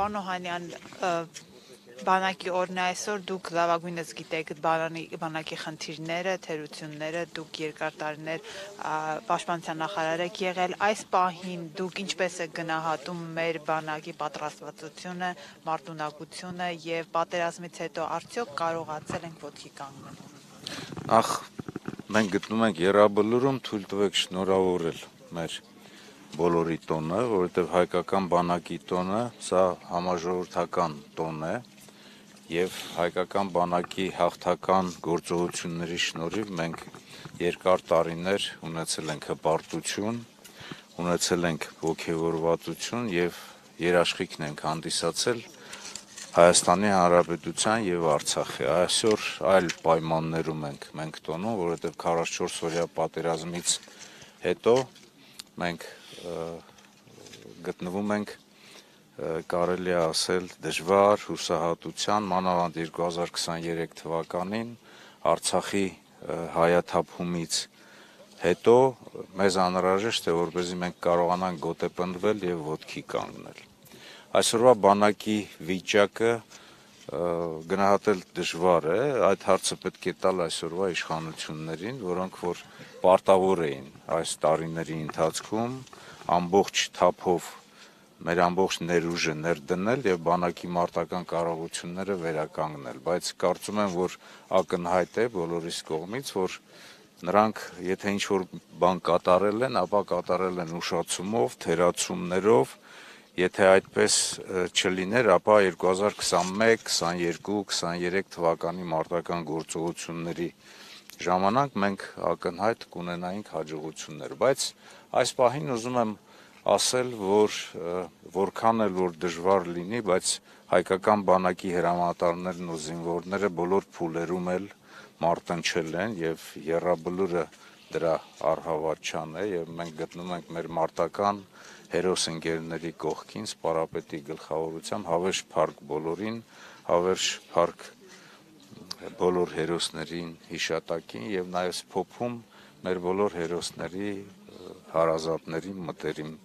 Պարոն Օհանյան, բանակի օրն է այսօր, դուք լավագույնս գիտեք բանակի խնդիրները, թերությունները, դուք երկար տարիներ պաշտպանության նախարար եք եղել, այս պահին դուք ինչպես եք գնահատում մեր բանակի պատրաստվածությունը, մարտունակությունը եւ պատերազմից հետո արդյոք կարողացել ենք ոտքի կանգնել։ Նախ մենք գտնում ենք Եռաբլուրում, թույլ տվեք շնորհավորել մեր բոլորի տոնը, որովհետև հայկական բանակի տոնը սա համաժողովրդական տոն է եւ հայկական բանակի հաղթական գործողությունների շնորհիվ մենք երկար տարիներ ունեցել ենք հպարտություն, ունեցել ենք ոգևորվածություն եւ երաշխիքն ենք հանդիսացել Հայաստանի Հանրապետության եւ Արցախի։ Այսօր այլ պայմաններում ենք մենք տոնում, որովհետեւ 44-օրյա պատերազմից հետո մենք գտնվում ենք կարելի է ասել դժվար հուսահատության, մանավանդ 2023 թվականին Արցախի հայաթափումից հետո մեզ անհրաժեշտ է, որպեսզի մենք կարողանանք գոտեպնդվել եւ ոտքի կանգնել։ Այսօրվա բանակի վիճակը գնահատել դժվար է, այդ հարցը պետք է տալ այսօրվա իշխանություններին, որոնք որ պարտավոր էին այս տարիների ընթացքում ամբողջ թափով մեր ամբողջ ներուժը ներդնել եւ բանակի մարտական կարողությունները վերականգնել, բայց կարծում եմ, որ ակնհայտ է բոլորիս կողմից, որ նրանք եթե ինչ-որ բան կատարել են, ապա կատարել են ուշացումով, թերացումներով, եթե այդպես չլիներ, ապա 2021, 22, 23 թվականի մարտական գործողությունների ժամանակ մենք ակնհայտ կունենայինք հաջողություններ, բայց այս պահին ուզում եմ ասել, որ որքան էլ որ դժվար լինի, բայց հայկական բանակի հրամանատարներն ու զինվորները բոլոր փուլերում էլ մարտնչել են եւ Եռաբլուրը դրա առհավատչան է եւ մենք գտնում ենք մեր մարտական հերոս ընկերների կողքին սպարապետի գլխավորությամբ հավերժ փառք բոլորին, հավերժ փառք բոլոր հերոսներին հիշատակին եւ նաեւ փոփում մեր բոլոր հերոսների հարազատներին,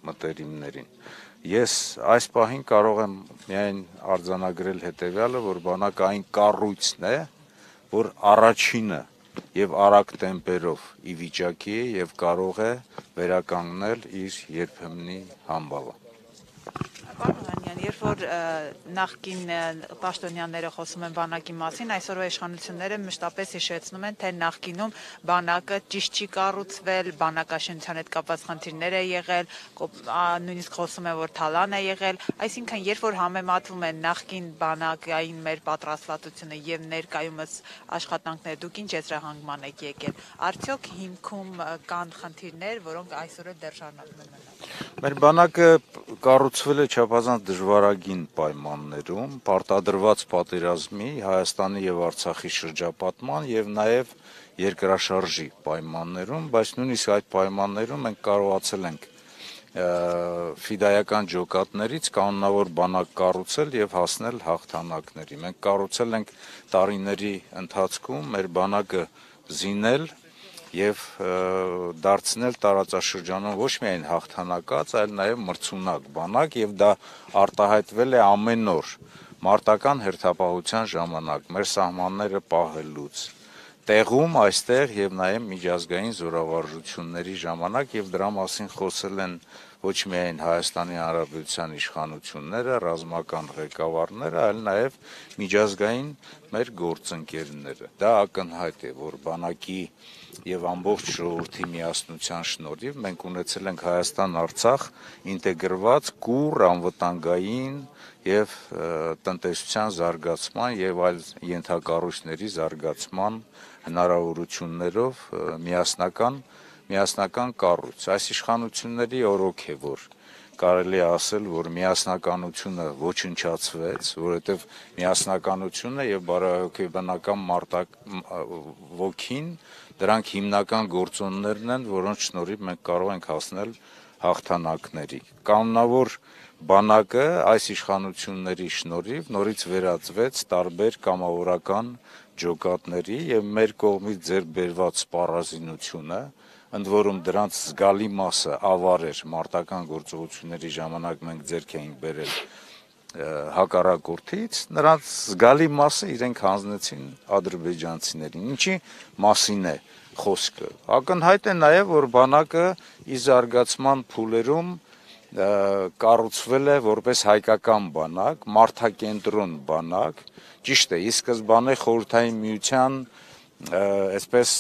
մտերիմներին։ Ես այս պահին կարող եմ միայն արձանագրել հետեւյալը, որ բանակը այն կառույցն է, որ առաջինը եւ արագ տեմպերով ի վիճակի է եւ կարող է վերականգնել իր երբեմնի համբավը։ Պարոն Օհանյան, երբ որ նախկին պաշտոնյաները խոսում են բանակի մասին, այսօրվա իշխանությունները մշտապես հիշեցնում են, թե նախկինում բանակը ճիշտ չի կառուցվել, բանակաշինության հետ կապված խնդիրներ է եղել, նույնիսկ խոսում են, որ թալան է եղել, այսինքն երբ որ համեմատվում են նախկին բանակային մեր պատրաստվածությունը եւ ներկայումս աշխատանքները, դուք ինչ եզրահանգման եք եկել, արդյոք հիմքում կան խնդիրներ, որոնք այսօր էլ դեռ շարունակում են մնալ։ Մեր բանակը կառուցվել է չափազանց դժվարագին պայմաններում, պարտադրված պատերազմի, Հայաստանի եւ Արցախի շրջապատման եւ նաեւ երկրաշարժի պայմաններում, բայց նույնիսկ այդ պայմաններում մենք կարողացել ենք ֆիդայական ջոկատներից կանոնավոր բանակ կառուցել եւ հասնել հաղթանակների։ Մենք կառուցել ենք տարիների ընթացքում մեր բանակը զինել եւ դարձնել տարածաշրջանում ոչ միայն հաղթանակած, այլ նաեւ մրցունակ բանակ եւ դա արտահայտվել է ամեն օր մարտական հերթապահության ժամանակ մեր սահմանները պահելուց տեղում այստեղ եւ նաեւ միջազգային զորավարժությունների ժամանակ եւ դրա մասին խոսել են ոչ միայն Հայաստանի Հանրապետության իշխանությունները, ռազմական ղեկավարները, այլ նաեւ միջազգային մեր գործընկերները։ Դա ակնհայտ է, որ բանակի եւ ամբողջ ժողովրդի միասնության շնորհիվ մենք ունեցել ենք Հայաստան-Արցախ ինտեգրված կուռ անվտանգային եւ տնտեսության զարգացման եւ այլ ենթակառույցների զարգացման հնարավորություններով միասնական կառույց։ Այս իշխանությունների օրոք է, որ կարելի է ասել, որ միասնականությունը ոչնչացվեց, որովհետև միասնականությունը եւ բարոյահոգեբանական ոգին դրանք հիմնական գործոններն են, որոնց շնորհիվ մենք կարող ենք հասնել հաղթանակների։ Կանոնավոր բանակը այս իշխանությունների շնորհիվ նորից վերածվեց տարբեր կամավորական ջոկատների եւ մեր կողմից ձեռք բերված սպառազինությունը, ընդ որում դրանց զգալի մասը ավար էր մարտական գործողությունների ժամանակ մենք ձեռք էինք բերել հակառակորդից, նրանց զգալի մասը իրենք հանձնեցին ադրբեջանցիներին։ Ինչի մասին է խոսքը։ Ակնհայտ է նաև, որ բանակը ի զարգացման փուլերում կառուցվել է որպես հայկական բանակ, մարդակենտրոն բանակ, ճիշտ է, ի սկզբանե Խորհրդային Միության այսպես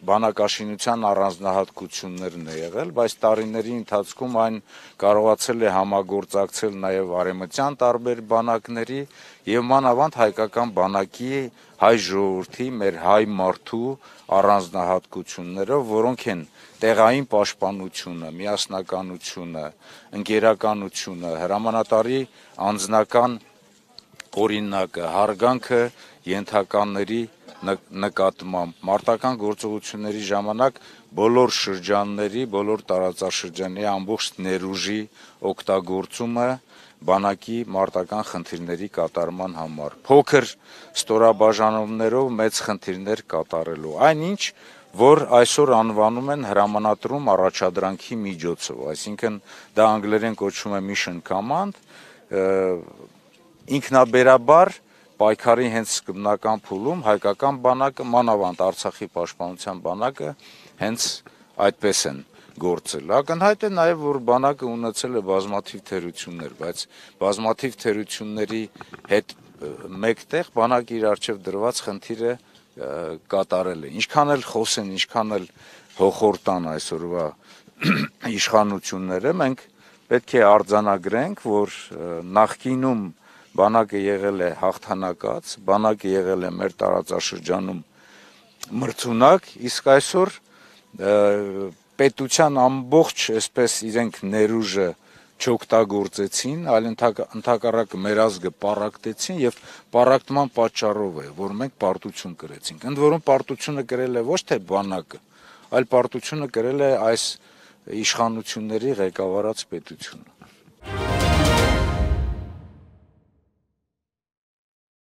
բանակաշինության առանձնահատկություններն է եղել, բայց տարիների ընթացքում այն կարողացել է համագործակցել նաև արևմտյան տարբեր բանակների եւ մանավանդ հայկական բանակի հայ ժողովրդի, մեր հայ մարդու առանձնահատկությունները, որոնք են տեղային պաշտպանությունը, միասնականությունը, ընկերականությունը, հրամանատարի անձնական օրինակը, հարգանքը ենթականների նկատմամբ մարտական գործողությունների ժամանակ բոլոր շրջանների, բոլոր տարածաշրջանի ամբողջ ներուժի օգտագործումը բանակի մարտական խնդիրների կատարման համար, փոքր ստորաբաժանումներով մեծ խնդիրներ կատարելու, այնինչ, որ այսօր անվանում են հրամանատրում առաջադրանքի միջոցով, այսինքն դա անգլերեն կոչվում է mission command, ինքնաբերաբար պայքարի հենց սկզբնական փուլում հայկական բանակը, մանավանդ Արցախի պաշտպանության բանակը հենց այդպես են գործել։ Ակնհայտ է նաև, որ բանակը ունեցել է բազմաթիվ թերություններ, բայց բազմաթիվ թերությունների հետ մեկտեղ բանակը իր առջև դրված խնդիրը կատարել է։ Ինչքան էլ խոսեն, ինչքան էլ հոխորտան այսօրվա իշխանությունները, մենք պետք է արձանագրենք, որ նախկինում բանակը եղել է հաղթանակած, բանակը եղել է մեր տարածաշրջանում մրցունակ, իսկ այսօր պետության ամբողջ այսպես իրենք ներուժը չօգտագործեցին, այլ ընդհակառակը մեր ազգը պառակտեցին եւ պառակտման պատճառով է, որ մենք պարտություն կրեցինք։ Ընդ որում պարտությունը կրել է ոչ թե բանակը, այլ պարտությունը կրել է այս իշխանությունների ղեկավարած պետությունը։